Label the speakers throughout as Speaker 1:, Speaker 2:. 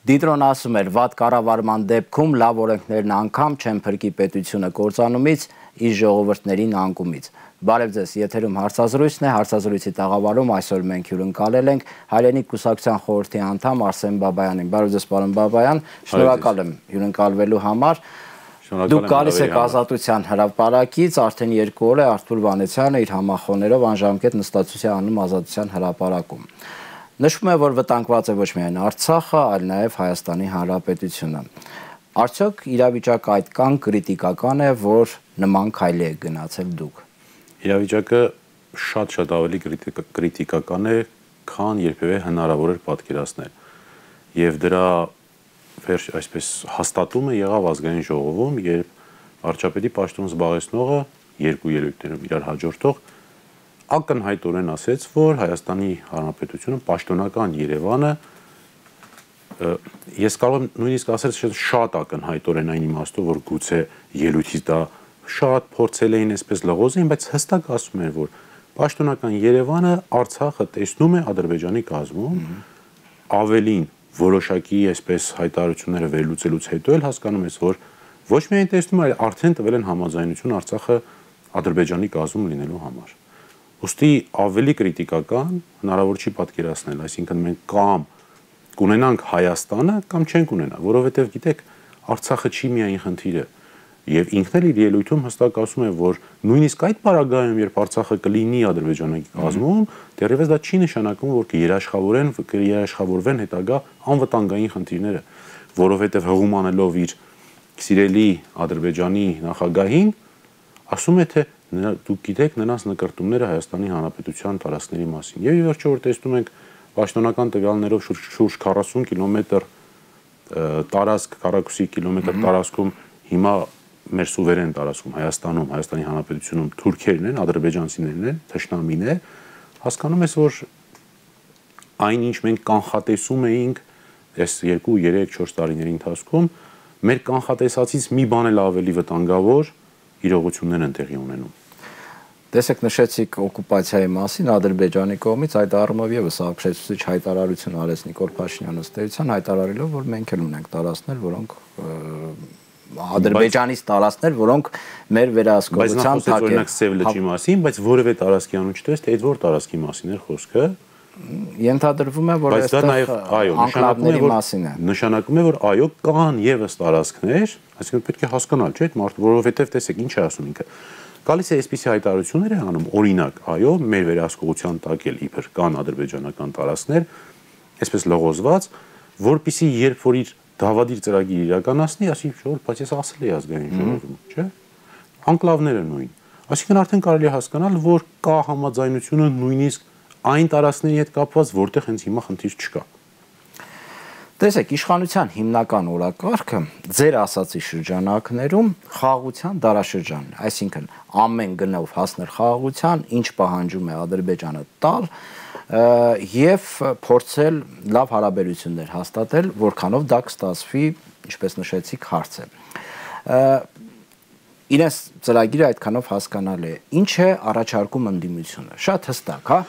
Speaker 1: Դիտրոն ասում էր, վատ կառավարման դեպքում լավ օրենքներն անգամ չեն փրկի պետությունը կործանումից, իր ժողովուրդներին անկումից։ Բարև ձեզ, եթերում հարցազրույցն է, հարցազրույցի տաղավարում այսօր մենք հյուրընկալել ենք Հայրենիք կուսակցության խորհրդի անդամ Արսեն Բաբայանին։ Բարև ձեզ, պարոն Բաբայան, շնորհակալ եմ հյուրընկալվելու համար։ Դուք գալիս եք Ազատության հրապարակից, արդեն 2 օր է Արթուր Վանեցյանը իր համախոհներով անժամկետ նստածություն է անում Ազատության հրապարակում։ Նշվում է, որ վտանգված է ոչ միայն Արցախը, այլ նաև Հայաստանի Հանրապետությունը։ Արդյոք իրավիճակը այդքան կրիտիկական է, որ նման քայլի եք գնացել դուք։
Speaker 2: Իրավիճակը շատ ավելի կրիտիկական է, քան երբևէ հնարավոր էր պատկերացնել։ Եվ դրա այսպես հաստատումը եղավ ազգային ժողովում, երբ վարչապետի պաշտոն զբաղեցնողը երկու ելույթներով իրար հաջորդող ակնհայտորեն ասեց, որ Հայաստանի Հանրապետությունը պաշտոնական Երևանը, ես կարող եմ նույնիսկ ասել շատ ակնհայտորեն այն իմաստով, որ գուցե ելույթից դա շատ փորձել էին այսպես լղոզին, բայց հստակ ասում էր, որ պաշտոնական Երևանը Արցախը տեսնում է Ադրբեջանի կազմում, ավելին որոշակի այսպես հայտարարությունները վերլուծելուց հետո էլ հասկանում ես, որ ոչ միայն տեսնում, այլ արդեն տվել են համաձայնություն Արցախը Ադրբեջանի կազմում լինելու համար։ Ուստի ավելի կրիտիկական հնարավոր չի պատկերացնել, այսինքն մենք կամ կունենանք Հայաստանը, կամ չենք ունենա, որովհետև գիտեք, Արցախը չի միայն խնդիրը, եւ ինքն էլ իր ելույթում հստակ ասում է, որ նույնիսկ այդ պարագայում, երբ Արցախը կլինի Ադրբեջանի կազմում, դեռևս դա չի նշանակում, որ կերաշխավորվեն հետագա անվտանգային խնդիրները, որովհետև հղում անելով իր սիրելի Ադրբեջանի նախագահին, ասում է, թե դուք գիտեք նրանց նկարտումները Հայաստանի Հանրապետության տարածքների մասին։ Եվ վերջը որ տեսնում ենք պաշտոնական տվյալներով շուրջ 40 կիլոմետր տարածք, քառակուսի կիլոմետր տարածքում հիմա մեր սուվերեն տարածքում Հայաստանում, Հայաստանի Հանրապետությունում թուրքերն են, ադրբեջանցիներն են, թշնամին է, հասկանում ես, որ այնինչ մենք կանխատեսում էինք այս 2, 3, 4 տարիների ընթացքում, մեր կանխատեսածից մի բան էլ ավելի վտանգավոր իրողություններ են տեղի ունենում։
Speaker 1: Տեսեք, նշեցիք օկուպացիայի մասին Ադրբեջանի կողմից, այդ առումով եւս ապշեցուցիչ հայտարարություն արեց Նիկոլ Փաշինյանը ըստ էության, հայտարարելով, որ մենք էլ ունենք տարածքներ, որոնք Ադրբեջանից տարածքներ, որոնք մեր վերահսկողության տակ են։
Speaker 2: Բայց նա խոսեց օրինակ Սև լճի մասին, բայց որևէ տարածքի անուն չտես, թե այդ որ տարածքի մասին էր խոսքը։
Speaker 1: Ենթադրվում է, որ այստեղ անկլավների մասին է։
Speaker 2: Նշանակում է, որ այո, կան եւս տարածքներ, այսինքն պետք է հասկանալ, չէ՞, այդ մարդը, որովհետեւ տեսեք, ինչ է ասում ինքը։ Գալիս է այսպիսի հայտարարություններ է անում, օրինակ, այո, մեր վերահսկողության տակ էլ իբր կան ադրբեջանական տարածքներ, այսպես լղոզված, որպիսի երբ որ իր դավադիր ծրագիր իրականացնի, ասի, բայց ես ասել էի ազգային ժողովում, չէ՞։ Անկլավները նույն։ Այսինքն արդեն կարելի է հասկանալ, որ կա համաձայնությունը նույնիսկ այն տարածքների հետ կապված, որտեղ հենց հիմա խնդիր չկա։
Speaker 1: Տեսեք, իշխանության հիմնական օրակարգը ձեր ասացի շրջանակներում խաղաղության դարաշրջանն է, այսինքն ամեն գնով հասնել խաղաղության, ինչ պահանջում է Ադրբեջանը տալ եւ փորձել լավ հարաբերություններ հաստատել, որքանով դա կստացվի, ինչպես նշեցիք, հարց է։ Իրենց ծրագիրը այդքանով հասկանալ է։ Ինչ է առաջարկում ընդդիմությունը։ Շատ հստակ, հա,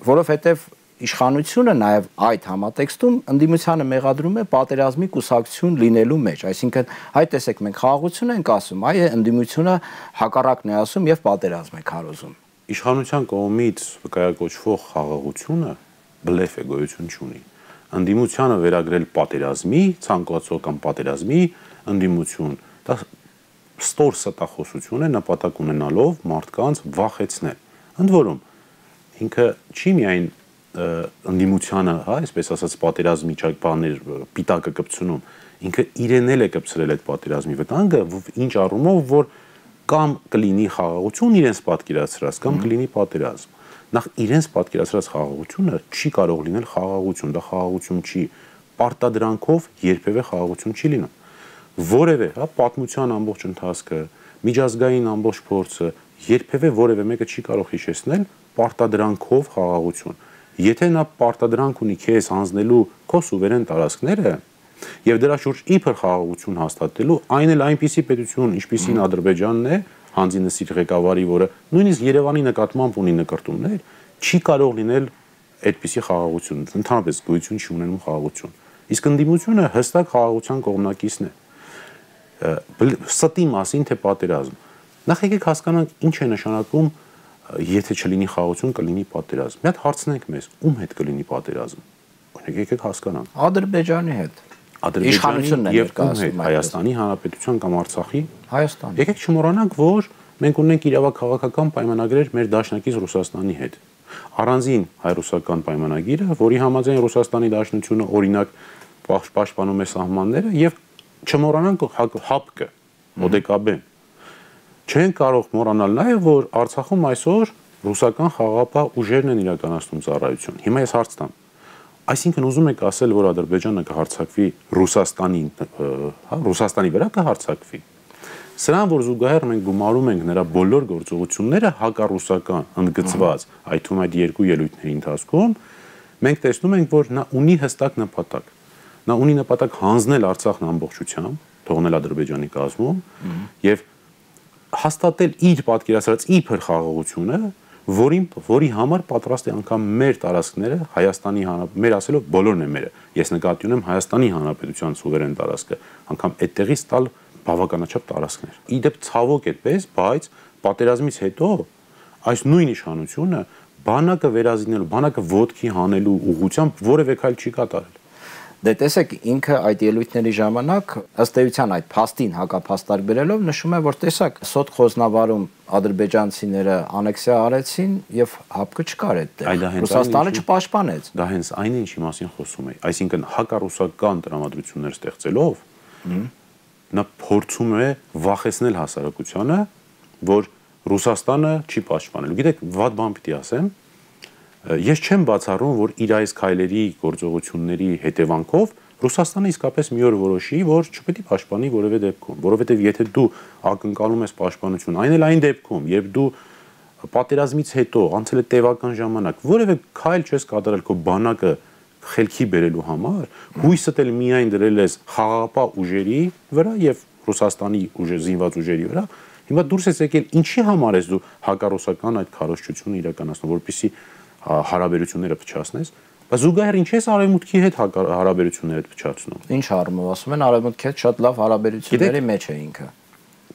Speaker 1: որովհետեւ իշխանությունը նաև այդ համատեքստում ընդդիմությանը մեղադրում է պատերազմի կուսակցություն լինելու մեջ, այսինքն այ տեսեք մենք խաղաղություն ենք ասում, այ ընդդիմությունը հակառակն է ասում եւ պատերազմ է քարոզում։
Speaker 2: Իշխանության կողմից վկայակոչվող խաղաղությունը բլեֆ է, գոյություն չունի։ Ընդդիմությանը վերագրել պատերազմի, ցանկացող կամ պատերազմի ընդդիմություն, դա ստոր ստախոսություն է նպատակ ունենալով մարդկանց վախեցնել։ Ընդ որում ինքը չի միայն ընդդիմությանը, հա, այսպես ասած պատերազմի ճակատներ պիտակը կպցնում, ինքը իրեն էլ է կպցրել այդ պատերազմի վտանգը, ինչ առումով, որ կամ կլինի խաղաղություն իրենց պատկերացրած, կամ կլինի պատերազմ։ Նախ իրենց պատկերացրած խաղաղությունը չի կարող լինել խաղաղություն, դա խաղաղություն չի, պարտադրանքով երբևէ խաղաղություն չի լինում։ Որևէ, հա, պատմության ամբողջ ընթացքը, միջազգային ամբողջ փորձը երբևէ որևէ մեկը չի կարող հիշեցնել պարտադրանքով խաղաղություն։ Եթե նա պարտադրանք ունի քեզ հանձնելու քո սուվերեն տարածքները եւ դրա շուրջ իբր խաղաղություն հաստատելու, այն էլ այնպիսի պետություն, ինչպիսին Ադրբեջանն է, հանձինսիր ղեկավարի, որը նույնիսկ Երևանի նկատմամբ ունի նկարտումներ, չի կարող լինել այդպիսի խաղաղություն, ընդհանրապես գոյություն չի ունենում խաղաղություն։ Իսկ ընդդիմությունը հստակ խաղաղության կողմնակիցն է։ Ստի մասին թե պատերազմ։ Նախ եկեք հասկանանք ինչ է նշանակում, եթե չլինի խաղաղություն, կլինի պատերազմ։ Մի հատ հարցնենք մեզ, ում հետ կլինի պատերազմ։ Օրինակ եկեք հասկանանք։
Speaker 1: Ադրբեջանի հետ։
Speaker 2: Իշխանությունն է ներկայացնում Հայաստանի Հանրապետության կամ Արցախի։
Speaker 1: Հայաստանի։
Speaker 2: Եկեք չմոռանանք, որ մենք ունենք իրավաքաղաքական պայմանագրեր մեր դաշնակից Ռուսաստանի հետ։ Առանձին հայ-ռուսական պայմանագիրը, որի համաձայն Ռուսաստանի Դաշնությունը օրինակ պաշտպանում է սահմանները եւ չմոռանանք ՀԱՊԿ-ը, ՕԴԿԲ-ն։ Չեն կարող մոռանալ նաեւ, որ Արցախում այսօր ռուսական խաղաղապահ ուժերն են իրականացնում ծառայություն։ Հիմա ես հարց տամ։ Այսինքն ուզում եք ասել, որ Ադրբեջանը կհարձակվի Ռուսաստանի վրա կհարձակվի։ Սրան, որ զուգահեռ մենք գումարում ենք նրա բոլոր գործողությունները հակառուսական, ընդգծված, այդ թվում այդ երկու ելույթների ընթացքում, մենք տեսնում ենք, որ նա ունի հստակ նպատակ։ Նա ունի նպատակ հանձնել Արցախն ամբողջությամբ, թողնել Ադրբեջանի կազմում եւ հաստատել իր պատկերացրած իբր խաղաղությունը, որի համար պատրաստ է անգամ մեր տարածքները Հայաստանի մեր ասելով բոլորն են մերը։ Ես նկատի ունեմ Հայաստանի Հանրապետության սուվերեն տարածքը, անգամ այդտեղից տալ բավականաչափ տարածքներ։ Իդեպ ցավոք այդպես, բայց պատերազմից հետո այս նույն իշխանությունը բանակը վերազինելու, բանակը ոտքի հանելու ուղղությամբ որևէ քայլ չի կատարել։
Speaker 1: Դե տեսեք, ինքը այդ ելույթների ժամանակ ըստ էության այդ փաստին հակափաստարկ բերելով նշում է, որ տեսակ Սոտ Խոզնավարում ադրբեջանցիները անեքսիա արեցին եւ ՀԱՊԿ չկար այդտեղ։ Ռուսաստանը չպաշտպանեց։
Speaker 2: Դա հենց այն է, ինչի մասին խոսում եմ։ Այսինքն հակառուսական տրամադրություններ ստեղծելով նա փորձում է վախեցնել հասարակությանը, որ Ռուսաստանը չի պաշտպանելու։ Գիտեք, վատ բան պիտի ասեմ, ես չեմ բացառում, որ իր այս քայլերի գործողությունների հետևանքով Ռուսաստանը իսկապես մի օր որոշի, որ չպետք է պաշտպանի որևէ դեպքում, որովհետև եթե դու ակնկալում ես պաշտպանություն, այն էլ այն դեպքում, երբ դու պատերազմից հետո անցել է տևական ժամանակ, որևէ քայլ չես կատարել քո բանակը խելքի բերելու համար, հույսդ էլ միայն դրել ես խաղաղապահ ուժերի վրա եւ Ռուսաստանի զինված ուժերի վրա, հիմա դուրս ես եկել, ինչի համար ես դու հակառուսական այդ քարոզչությունը իրականացնում, որպեսզի հարաբերությունները փչացնես, բայց զուգահեռ ինչ ես արևմուտքի հետ հարաբերությունները փչացնում։
Speaker 1: Ինչ առումով ասում են, արևմուտքի հետ շատ լավ հարաբերությունների մեջ է ինքը։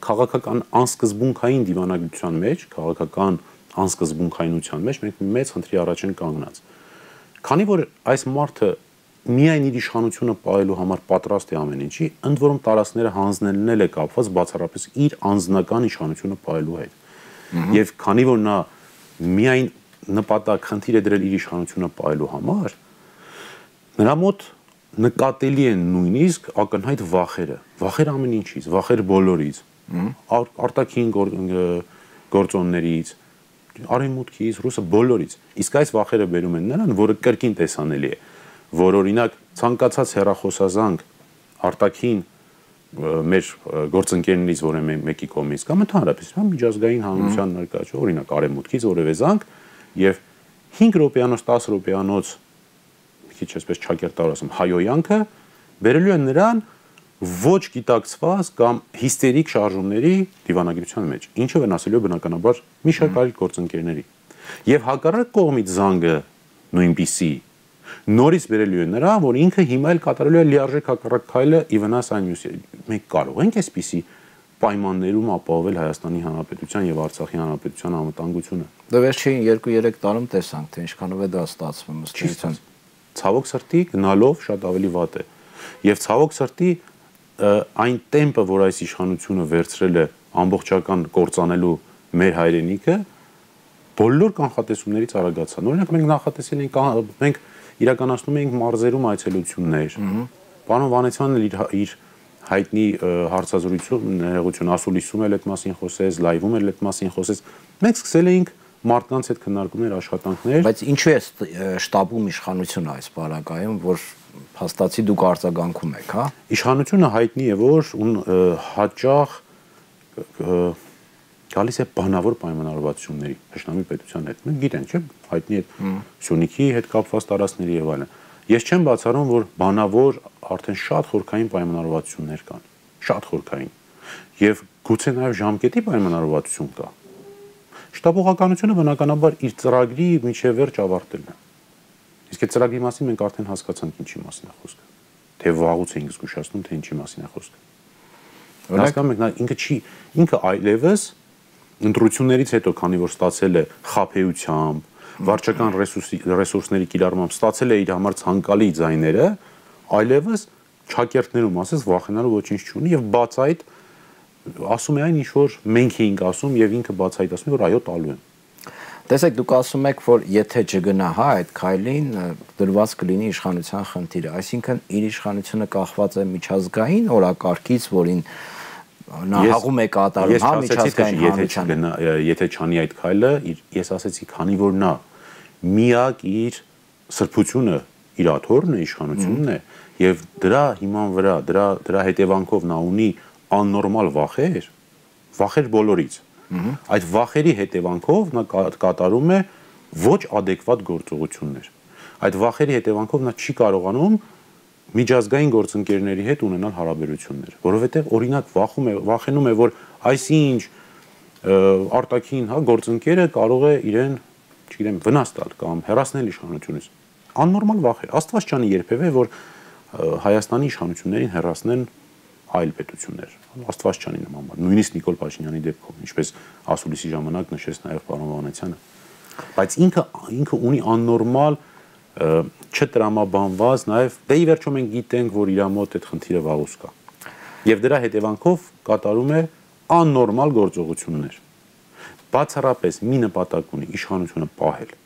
Speaker 2: Քաղաքական անսկզբունքային դիվանագիտության մեջ, քաղաքական անսկզբունքայնության մեջ մենք մեծ խնդրի առաջ են կանգնած։ Քանի որ այս մարդը միայն իր իշխանությունը պահելու համար պատրաստ է ամեն ինչի, ընդ որում տարածքները հանձնելն էլ է կապված բացառապես իր անձնական իշխանությունը պահելու հետ։ Եվ քանի որ նա միայն նպատակ խնդիր է դրել իր իշխանությունը պահելու համար, նրա մոտ նկատելի են նույնիսկ ակնհայտ վախեր ամեն ինչից, վախեր բոլորից, արտաքին գործոններից, արևմուտքից, ռուսը բոլորից։ Իսկ այս վախերը բերում են նրան, որը կրկին տեսանելի է, որ օրինակ ցանկացած հեռախոսազանգ արտաքին մեր գործընկերներից որը մեկի կողմից կամ ընդհանրապես միջազգային հանրության ներկայացում, օրինակ արևմուտքից որևէ զանգ եւ 5 րոպեանոց 10 րոպեանոց մի քիչ այսպես ճակերտար ասեմ հայոյանքը բերելու են նրան ոչ գիտակցված կամ հիստերիկ շարժումների դիվանագիտության մեջ, ինչը վնասելու է բնականաբար մի շարք այլ գործընկերների։ Եվ հակառակ կողմից զանգը նույնպիսի նորից բերելու է նրան, որ ինքը հիմա էլ կատարելու է լիարժեք հակառակ քայլը ի վնաս այն մյուսի։ Մենք կարող ենք այսպիսի պայմաններում ապահովել Հայաստանի Հանրապետության եւ Արցախի Հանրապետության անվտանգությունը։
Speaker 1: Դե վերջին 2-3 տարում տեսանք, թե ինչքանով է դա ստացվում ըստ էության։
Speaker 2: Ցավոք սրտի գնալով շատ ավելի վատ է։ Եվ ցավոք սրտի այն տեմպը, որ այս իշխանությունը վերցրել է ամբողջական կործանելու մեր հայրենիքը, բոլոր կանխատեսումներից արագացան։ Օրինակ մենք նախատեսել ենք, մենք իրականացնում էինք մարզերում այցելություններ։ Պարոն Վանեցյանն իր հայտնի հարցազրույցում ներողություն ասուլիսում էլ այդ մասին խոսեց, լայվում էլ այդ մասին խոսեց։ Մենք սկսել էինք մարդկանց հետ քննարկումներ, աշխատանքներ։
Speaker 1: Բայց ինչու է շտաբում իշխանությունը այս բaragայում, որ փաստացի դուք արձագանքում եք, հա։
Speaker 2: Իշխանությունը հայտնի է, որ հաճախ գալիս է բանավոր պայմանավորվածությունների Հաշնամի պետության հետ։ Մենք գիտենք, չէ՞, հայտնի է Սյունիքի հետ կապված տարածքների եւ այլն։ Ես չեմ բացառում, որ բանավոր արդեն շատ խորքային պայմանավորվածություններ կան, շատ խորքային։ Եվ գուցե նաեւ ժամկետի պայմանավորվածություն կա։ Շտաբողականությունը բնականաբար իր ծրագրի միջև վերջ ավարտելն է։ Իսկ այդ ծրագրի մասին մենք արդեն հասկացանք ինչի մասին է խոսքը։ թե վաղուց էինք զգուշացնում, թե ինչի մասին է խոսքը։ Հասկանում եք, ինքը այլևս ընտրություններից հետո, քանի որ ստացել է խաբեությամբ, վարչական ռեսուրսների կիրառմամբ ստացել է իր համար ցանկալի ձայները, այլևս ճակերտներում ասես վախենալու ոչինչ չունի եւ բացայտ ասում է այն ինչ որ մենք էինք ասում եւ ինքը բացայտ ասում է որ այո տալու եմ։
Speaker 1: Տեսեք, դուք ասում եք, որ եթե չգնա այդ քայլին, դրված կլինի իշխանության խնդիրը, այսինքն իր իշխանությունը կախված է միջազգային օրակարգից, որին նա հաղում է կատարում, հա, միջազգային հանրությանը։
Speaker 2: Եթե չանի այդ քայլը, ես ասեցի, քանի որ նա միակ իր սրբությունը իր աթոռն է, իշխանությունն է, եւ դրա հիման վրա, դրա հետևանքով նա ունի աննորմալ վախեր բոլորից։ Այդ վախերի հետևանքով նա կատարում է ոչ adekvat գործողություններ։ Այդ վախերի հետևանքով նա չի կարողանում միջազգային գործընկերների հետ ունենալ հարաբերություններ, որովհետև օրինակ վախենում է, որ այսինչ արտաքին, հա, գործընկերը կարող է իրեն, չգիտեմ, վնաս տալ կամ հեռացնել իշխանությունից։ Աննորմալ վախ է։ Աստված չանի երբևէ, որ Հայաստանի իշխանություններին հեռացնեն այլ պետություններ։ Աստված չանի նման բան։ Նույնիսկ Նիկոլ Փաշինյանի դեպքում, ինչպես ասուլիսի ժամանակ նշեց նաև պարոն Վանեցյանը։ Բայց ինքը ունի աննորմալ չտրամաբանված նաև դե ի վերջո մենք գիտենք, որ իր մոտ այդ խնդիրը վաղուց կա։ Եվ դրա հետևանքով կատարում է աննորմալ գործողություններ։ Բացառապես մի նպատակ ունի իշխանությունը պահել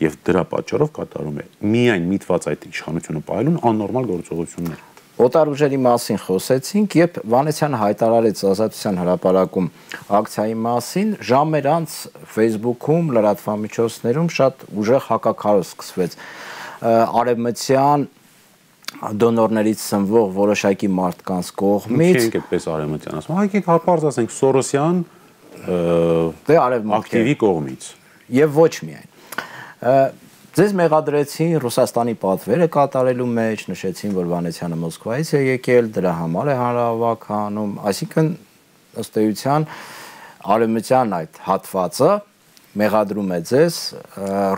Speaker 2: եւ դրա պատճառով կատարում է միայն միտված այդ իշխանությունը պահելուն աննորմալ գործողություններ։
Speaker 1: Օտար ուժերի մասին խոսեցինք, երբ Վանեցյանը հայտարարեց Ազատության հրապարակում ակցիայի մասին, ժամեր անց Facebook-ում, լրատվամիջոցներում շատ ուժեղ հակաքարոզ սկսվեց։ Արևմտյան դոնորներից սնվող որոշակի մարդկանց կողմից։
Speaker 2: Չենք այդպես արևմտյան ասում։ Եկեք հապարտ ասենք Սորոսյան ակտիվի կողմից։
Speaker 1: Եվ ոչ միայն։ Ձեզ մեղադրեցին Ռուսաստանի պատվերը կատարելու մեջ, նշեցին, որ Վանեցյանը Մոսկվայից է եկել, դրա համար է հանրահավաք անում, այսինքն ըստ էության արևմտյան այդ հատվածը մեղադրում է ձեզ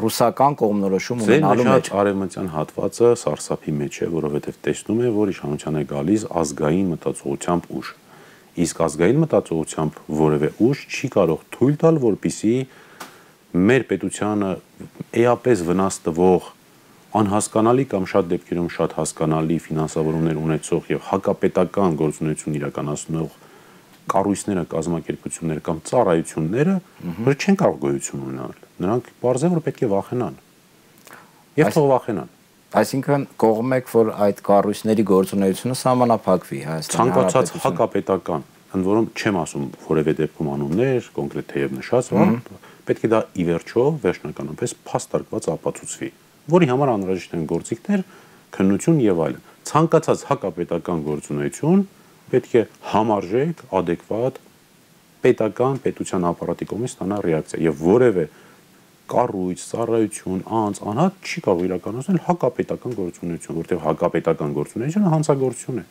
Speaker 1: ռուսական կողմնորոշում ունենալու մեջ։
Speaker 2: Ձեր արևմտյան հատվածը սարսափի մեջ է, որովհետև տեսնում է, որ իշխանության է գալիս ազգային մտածողությամբ ուժ։ Իսկ ազգային մտածողությամբ որևէ ուժ չի կարող թույլ տալ, որպեսզի մեր պետությանը էապես վնաս տվող անհասկանալի կամ շատ դեպքերում շատ հասկանալի ֆինանսավորումներ ունեցող եւ հակապետական գործունեություն իրականացնող կառույցները, կազմակերպությունները կամ ծառայությունները որ չեն կարող գոյություն ունենալ։ Նրանք բարձր որ պետք է վախենան։ Եվ թող վախենան։
Speaker 1: Այսինքն կողմ եք, որ այդ կառույցների գործունեությունը սահմանափակվի Հայաստանի
Speaker 2: ցանկացած հակապետական, ընդ որում չեմ ասում որևէ դեպքում անուններ, կոնկրետ թեև նշած, պետք է դա ի վերջո վերջնականապես փաստարկված ապացուցվի, որի համար անհրաժեշտ են գործիքներ, քննություն եւ այլն։ Ցանկացած հակապետական գործունեություն պետք է համարժեք, adekvat պետության ապարատի կողմից ստանա ռեակցիա եւ որևէ կառույց, ծառայություն, անձ, անհատ չի կարող իրականացնել հակապետական գործունեություն, որտեղ հակապետական գործունեությունը հանցագործություն է։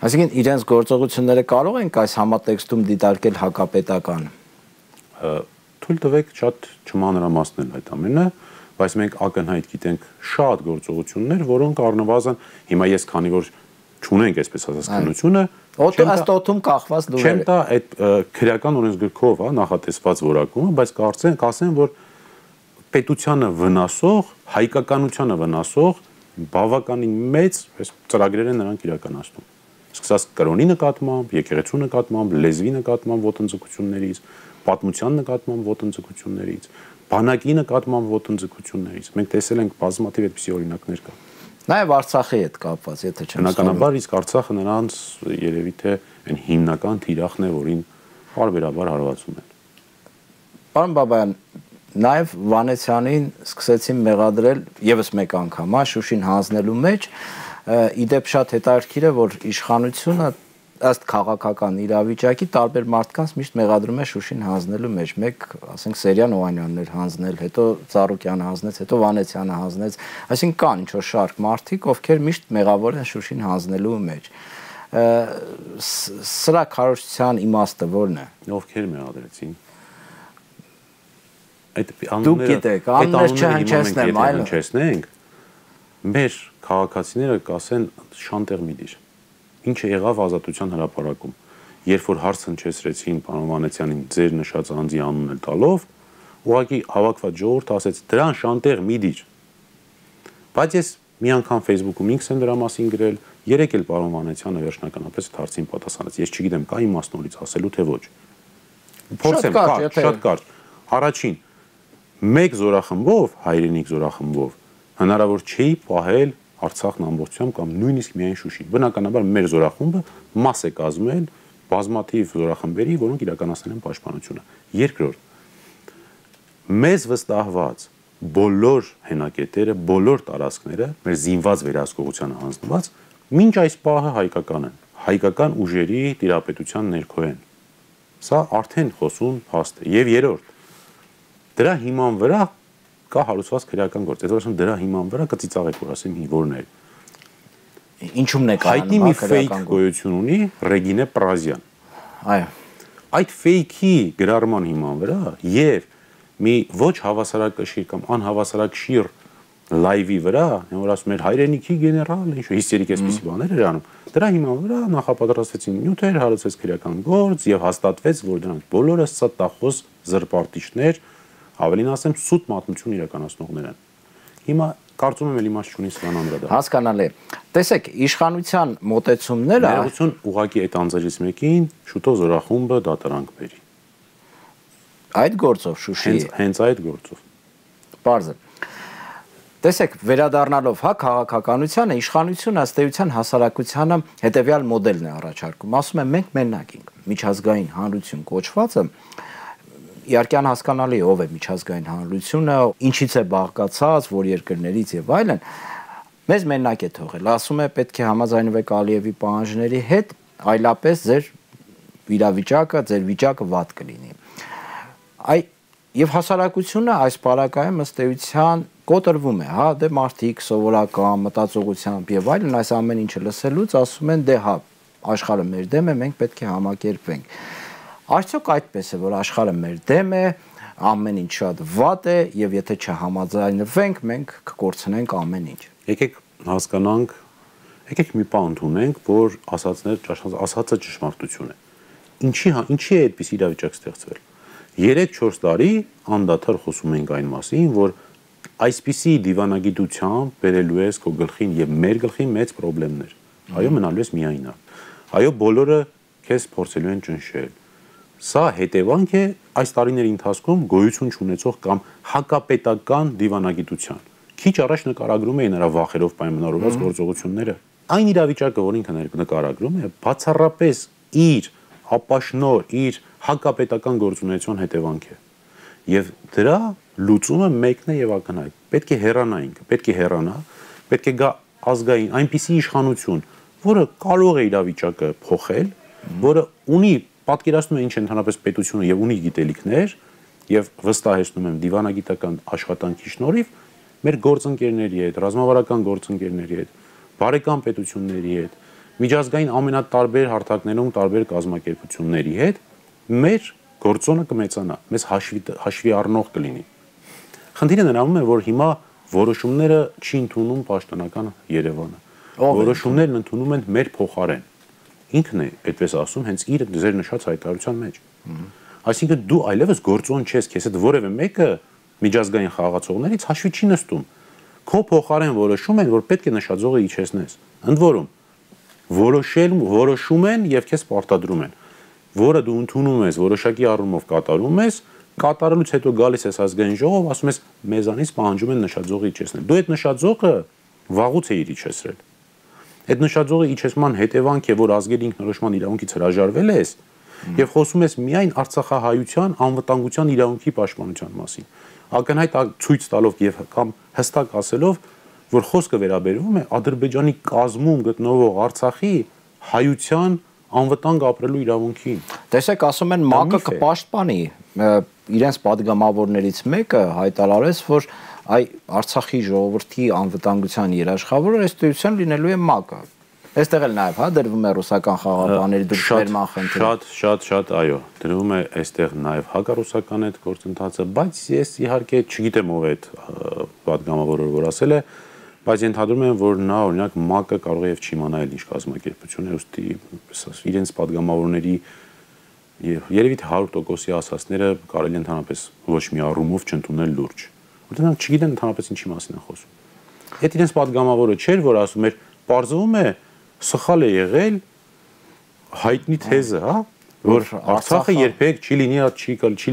Speaker 1: Այսինքն իրենց գործողությունները կարող են այս համատեքստում դիտարկել հակապետական։
Speaker 2: Թույլ տվեք շատ չմանրամասնել այդ ամենը, բայց մենք ակնհայտ գիտենք շատ գործողություններ, որոնք առնվազն հիմա ես քանի որ չունենք այսպես ասած քննությունը,
Speaker 1: ըստ օդում կախված լուրեր։
Speaker 2: Չեմ տա այդ քրեական օրենսգրքով, հա, նախատեսված որակումը, բայց կասեմ, որ պետությանը վնասող, հայկականությանը վնասող բավականին մեծ ծրագրեր են նրանք իրականացնում։ Սկսած կրոնի նկատմամբ, եկեղեցու նկատմամբ, լեզվի նկատմամբ ոտնձգություններից, պատմության նկատմամբ ոտնձգություններից, բանակի նկատմամբ ոտնձգություններից։ Մենք տեսել ենք բազմաթիվ այդպիսի օրինակներ կա։
Speaker 1: Նաև Արցախի հետ կապված, եթե չեմ
Speaker 2: բնականաբար իսկ Արցախը նրանց երևի թե այն հիմնական թիրախն է, որին բարբերաբար հարվածում են։
Speaker 1: Պարոն Բաբայան, նաև Վանեցյանին սկսեցին մեղադրել եւս մեկ անգամ, Շուշին հանձնելու մեջ, իդեպ շատ հետաքրքիր է, որ իշխանությունը ըստ քաղաքական իրավիճակի տարբեր մարդկանց միշտ մեղադրում է Շուշին հանձնելու մեջ, մեկ, ասենք, Սերյան Օհանյանն էր հանձնել, հետո Ծառուկյանը հանձնեց, հետո Վանեցյանը հանձնեց, այսինքն կան ինչ-որ շարք մարդիկ, ովքեր միշտ մեղավոր են Շուշին հանձնելու մեջ։ Սրա քարոզչության իմաստը ո՞րն է։
Speaker 2: Ովքեր մեղադրեցին։
Speaker 1: Դուք գիտեք, անուններ չհնչեցնեմ, այլ
Speaker 2: հնչեցնենք։ մեր քաղաքացիները կասեն շանտեղ մի դիր։ Ինչը եղավ Ազատության հրապարակում, երբ որ հարց հնչեցրեցին պարոն Վանեցյանին ձեր նշած անձի անունը տալով, ուղղակի հավաքված ժողովուրդը ասեց դրան շանտեղ մի դիր։ Բայց ես մի անգամ Facebook-ում ինքս եմ դրա մասին գրել, երեք էլ պարոն Վանեցյանը վերջնականապես այդ հարցին պատասխանեց։ Ես չգիտեմ, կա իմաստնորից ասելու թե ոչ։ Փորձեմ, շատ կարճ։ Առաջին, մեկ զորախմբով, հայրենիք զորախմբով հնարավոր չի պահել Արցախն ամբողջությամբ կամ նույնիսկ միայն Շուշին։ Բնականաբար մեր զորախումբը մաս է կազմել բազմաթիվ զորախմբերի, որոնք իրականացնել են պաշտպանությունը։ Երկրորդ, մեզ վստահված բոլոր հենակետերը, բոլոր տարածքները մեր զինված վերահսկողությանը հանձնված մինչ այս պահը հայկական են, հայկական ուժերի տիրապետության ներքո են։ Սա արդեն խոսուն փաստ է։ Եվ երրորդ, դրա հիման վրա կա հարուցված քրեական գործ։ Եթե ասեմ դրա հիման վրա կծիծաղեք, որ ասեմ որն է։
Speaker 1: Ինչումն է կայանում
Speaker 2: հայտնի մի ֆեյք գոյություն ունի Ռեգինե Պրազյան։
Speaker 1: Այո։
Speaker 2: Այդ ֆեյքի գրառման հիման վրա եւ մի ոչ հավասարակշիռ կամ անհավասարակշիռ լայվի վրա, որ ասում էր հայրենիքի գեներալ, ինչ հիստերիկ էսպիսի բաներ էր անում։ Դրա հիման վրա նախապատրաստվեցին նյութեր, հարուցվեց քրեական գործ եւ հաստատվեց, որ դրանք բոլորը ստախոս զրպարտիչներ, ավելին ասեմ, սուտ մատնություն իրականացնողներ են։ Հիմա կարծում եմ էլի մաս չունի սրան անդրադառնալ։
Speaker 1: Հասկանալի է։ Տեսեք, իշխանության մոտեցումները
Speaker 2: ներողություն ուղղակի այդ անձերից մեկին շուտով զորախումբը դատարանք բերի։
Speaker 1: Այդ գործով Շուշի
Speaker 2: հենց այդ գործով։
Speaker 1: Պարզ է։ Տեսեք, վերադառնալով քաղաքականությանը, իշխանությունը ըստ էության հասարակությանը հետևյալ մոդելն է առաջարկում։ Ասում են մենք մենակ ենք, միջազգային հանրություն կոչվածը իհարկե անհասկանալի է ով է միջազգային հանրությունը, ինչից է բաղկացած, որ երկրներից եւ այլն, մեզ մենակ է թողել։ Ասում է պետք է համաձայնվեք Ալիևի պահանջների հետ, այլապես ձեր իրավիճակը, ձեր վիճակը վատ կլինի։ Եվ հասարակությունը այս պարագայում ըստ էության կոտրվում է, հա, դե մարդիկ սովորական մտածողությամբ եւ այլն այս ամեն ինչը լսելուց ասում են դե հա, աշխարհը մեր դեմ է, մենք պետք է համակերպվենք։ Արդյոք այդպես է, որ աշխարհը մեր դեմ է, ամեն ինչ շատ վատ է եւ եթե չհամաձայնվենք, մենք կկորցնենք ամեն ինչ։
Speaker 2: Եկեք հասկանանք, եկեք մի բան ընդունենք, որ ասածը ճշմարտություն է։ Ինչի է այդպես իրավիճակ ստեղծվել։ 3-4 տարի անդադար խոսում ենք այն մասին, որ այսպիսի դիվանագիտությամբ բերելու ես քո գլխին եւ մեր գլխին մեծ խնդիրներ։ Այո, մնալու ես միայնակ։ Այո, բոլորը քեզ փորձելու են ճնշել։ Սա հետևանք է այս տարիների ընթացքում գոյություն չունեցող կամ հակապետական դիվանագիտության։ Քիչ առաջ նկարագրում էին նրա վախերով պայմանավորված գործողությունները։ Այն իրավիճակը, որ ինքը նկարագրում է, բացառապես իր ապաշնոր, իր հակապետական գործունեության հետևանք է։ Եվ դրա լուծումը մեկն է եւ ակնհայտ։ Պետք է հեռանա ինքը, պետք է հեռանա, պետք է գա ազգային այնպիսի իշխանություն, որը կարող է իրավիճակը փոխել, որը ունի պատկերացնում է ինչ է ընդհանրապես պետությունը եւ ունի գիտելիքներ եւ վստահեցնում եմ դիվանագիտական աշխատանքի շնորհիվ մեր գործընկերների հետ, ռազմավարական գործընկերների հետ, բարեկամ պետությունների հետ, միջազգային ամենատարբեր հարթակներում տարբեր կազմակերպությունների հետ մեր գործոնը կմեծանա, մեզ հաշվի առնող կլինի։ Խնդիրը նրանում է, որ հիմա որոշումները չի ընդունում պաշտոնական Երևանը։ Որոշումներն ընդունում են մեր փոխարեն։ Ինքն է այդպես ասում հենց իր ձեր նշած հայտարարության մեջ։ Այսինքն դու այլևս գործոն չես, քեզ հետ որևէ մեկը միջազգային խաղացողներից հաշվի չի նստում։ Քո փոխարեն որոշում են, որ պետք է նշաձողը իջեցնես։ Ընդ որում որոշում են եւ քեզ պարտադրում են, որը դու ընդունում ես, որոշակի առումով կատարում ես, կատարելուց հետո գալիս ես ազգային ժողով, ասում ես մեզանից պահանջում են նշաձողը իջեցնել։ Դու այդ նշաձողը վաղուց էիր իջեցրել։ Այդ նշաձողը իջեցման հետևանք է, որ ազգերի ինքնորոշման իրավունքից հրաժարվել ես եւ խոսում ես միայն արցախահայության անվտանգության իրավունքի պաշտպանության մասին։ Ակնհայտ ցույց տալով եւ կամ հստակ ասելով, որ խոսքը վերաբերվում է Ադրբեջանի կազմում գտնվող Արցախի հայության անվտանգ ապրելու իրավունքին։
Speaker 1: Տեսեք, ասում են ՄԱԿ-ը կպաշտպանի, իրենց падգամավորներից մեկը հայտարարեց, որ այ Արցախի ժողովրդի անվտանգության երաշխավորը ըստ էության լինելու է ՄԱԿ-ը։ Այստեղ էլ նաև հա դրվում է ռուսական խաղաղապահների դրդերման խնդիրը։
Speaker 2: Շատ, այո, դրվում է այստեղ նաև հակառուսական այդ գործընթացը, բայց ես իհարկե չգիտեմ ով է այդ падգամավորը, որ ասել է, բայց ենթադրում եմ, որ նա օրինակ ՄԱԿ-ը կարող է եւ չիմանա ինչ կազմակերպություն է, ուստի իրենց падգամավորների երևի թե 100%-ի ասածները կարելի է ընդհանրապես ոչ մի առումով չընդունել լուրջ։ Որտեղ նրանք չգիտեն ընդհանրապես ինչի մասին են խոսում։ Այդ իրենց падգամավորը չէր, որ ասում էր, պարզվում է սխալ է եղել հայտնի թեզը, հա, որ Արցախը երբեք չի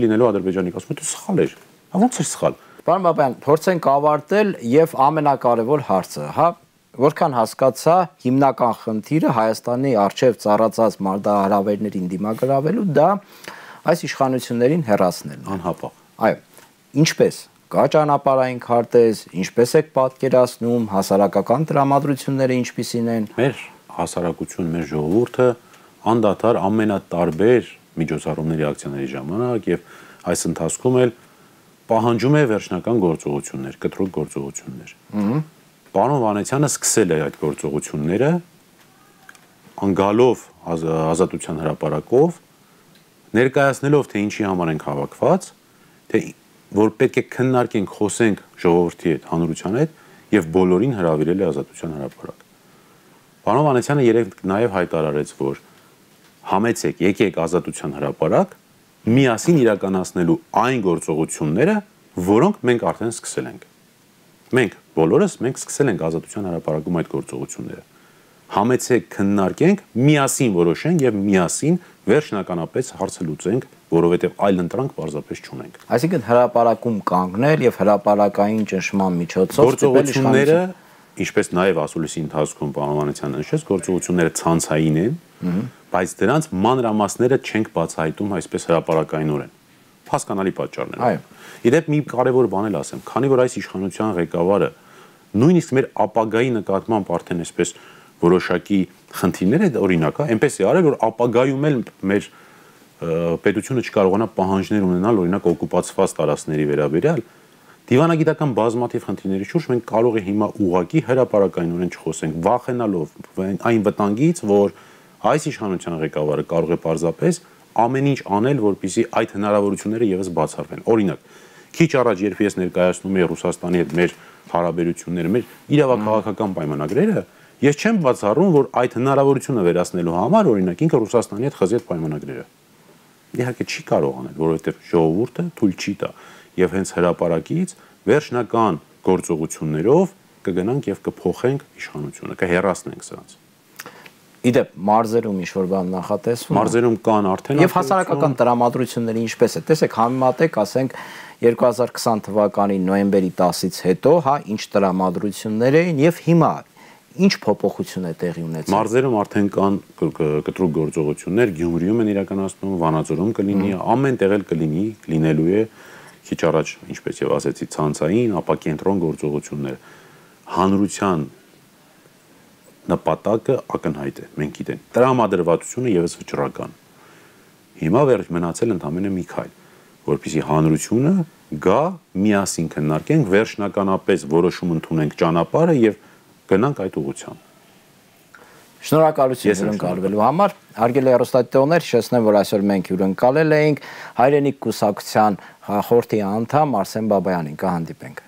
Speaker 2: լինելու Ադրբեջանի կազմում, դա սխալ էր։ Ոնց էր սխալ։
Speaker 1: Պարոն Բաբայան, փորձենք ավարտել եւ ամենակարևոր հարցը, հա, որքան հասկացա, հիմնական խնդիրը Հայաստանի արչեւ ծառացած մարտահրավերներին դիմագրավելու դա այս իշխանություններին հեռացնելն է։
Speaker 2: Անհապաղ։
Speaker 1: Այո, ինչպես կա ճանապարհային քարտեզ, ինչպես եք պատկերացնում, հասարակական տրամադրությունները ինչպիսին են։
Speaker 2: Մեր հասարակություն, մեր ժողովուրդը անդադար ամենատարբեր միջոցառումների ակցիաների ժամանակ եւ այս ընթացքում էլ պահանջում է վերջնական գործողություններ, կտրուկ գործողություններ։ Պարոն Վանեցյանը սկսել է այդ գործողությունները անգալով ազատության հրապարակով, ներկայացնելով թե ինչի համար ենք հավաքված, թե որ պետք է քննարկենք, խոսենք ժողովրդի հետ, հանրության հետ եւ բոլորին հրավիրել է ազատության հրապարակ։ Պարոն Վանեցյանը երեք նաեւ հայտարարեց, որ համեցեք, եկեք ազատության հրապարակ, միասին իրականացնելու այն գործողությունները, որոնք մենք արդեն սկսել ենք։ Մենք բոլորս սկսել ենք ազատության հրապարակում այդ գործողությունները։ Համեցեք քննարկենք, միասին որոշենք եւ միասին վերջնականապես հարցը լուծենք, որովհետեւ այլ ընտրանք պարզապես չունենք։
Speaker 1: Այսինքն հրապարակում կանգնել եւ հրապարակային ճնշման միջոցով
Speaker 2: գործողությունները, ինչպես նաեւ ասուլիսի ընթացքում պարոն Վանեցյանը նշեց, գործողությունները ցանցային են, բայց դրանց մանրամասները չենք բացահայտում այսպես հրապարակայինորեն։ Հասկանալի պատճառներ։
Speaker 1: Այո։
Speaker 2: Իդեպ մի կարևոր բան էլ ասեմ, քանի որ այս իշխանության ղեկավարը նույնիսկ մեր ապագայի նկատմամբ արդեն այսպես որոշակի խնդիրներ է օրինակ, այնպես է արել, որ ապագայում էլ մեր պետությունը չկարողանա պահանջներ ունենալ օրինակ օկուպացված տարածքների վերաբերյալ, դիվանագիտական բազմաթիվ խնդիրների շուրջ մենք կարող է հիմա ուղղակի հրապարակայինորեն չխոսենք, վախենալով այն վտանգից, որ այս իշխանության ղեկավարը կարող է պարզապես ամեն ինչ անել, որպեսզի այդ հնարավորությունները եւս բացառվեն։ Օրինակ, քիչ առաջ երբ ես ներկայացնում եմ Ռուսաստանի հետ մեր հարաբերությունները, մեր իրավաքաղաքական պայմանագրերը, ես չեմ բացառում, որ այդ հնարավորությունը վերացնելու համար օրինակ ինքը Ռուսաստանի հետ խզի այդ պայմանագրերը։ Իհարկե չի կարող անել, որովհետեւ ժողովուրդը թույլ չի տա եւ հենց հրապարակից վերջնական գործողություններով կգնանք եւ կփոխենք իշխանությունը, կհեռացնենք սրանց։
Speaker 1: Իդեպ մարզերում ինչ-որ բան նախատեսվում։
Speaker 2: Մարզերում կան արդեն
Speaker 1: եւ հասարակական տրամադրությունները ինչպես է։ Տեսեք, համեմատեք, ասենք 2020 թվականի նոյեմբերի 10-ից հետո, հա, ինչ տրամադրություններ էին եւ հիմա ինչ փոփոխություն է տեղի ունեցել։
Speaker 2: Մարզերում արդեն կան կտրուկ գործողություններ, Գյումրիում են իրականացնում, Վանաձորում կլինի, ամեն տեղ էլ կլինի, լինելու է քիչ առաջ, ինչպես եւ ասեցի, ցանցային, ապա կենտրոն գործողություններ։ Հանրության նպատակը ակնհայտ է, մենք գիտենք։ Տրամադրվածությունը եւս վճռական։ Հիմա վերջ մնացել ընդամենը մի քայլ, որպեսզի հանրությունը գա, միասին քննարկենք, վերջնականապես որոշում ընդունենք ճանապարհը եւ գնանք այդ ուղղությամբ։
Speaker 1: Շնորհակալություն հյուրընկալվելու համար։ Հարգելի հեռուստադիտողներ, հիշեցնեմ, որ այսօր մենք հյուրընկալել էինք Հայրենիք կուսակցության խորհրդի անդամ Արսեն Բաբայանին։ Կհանդիպենք։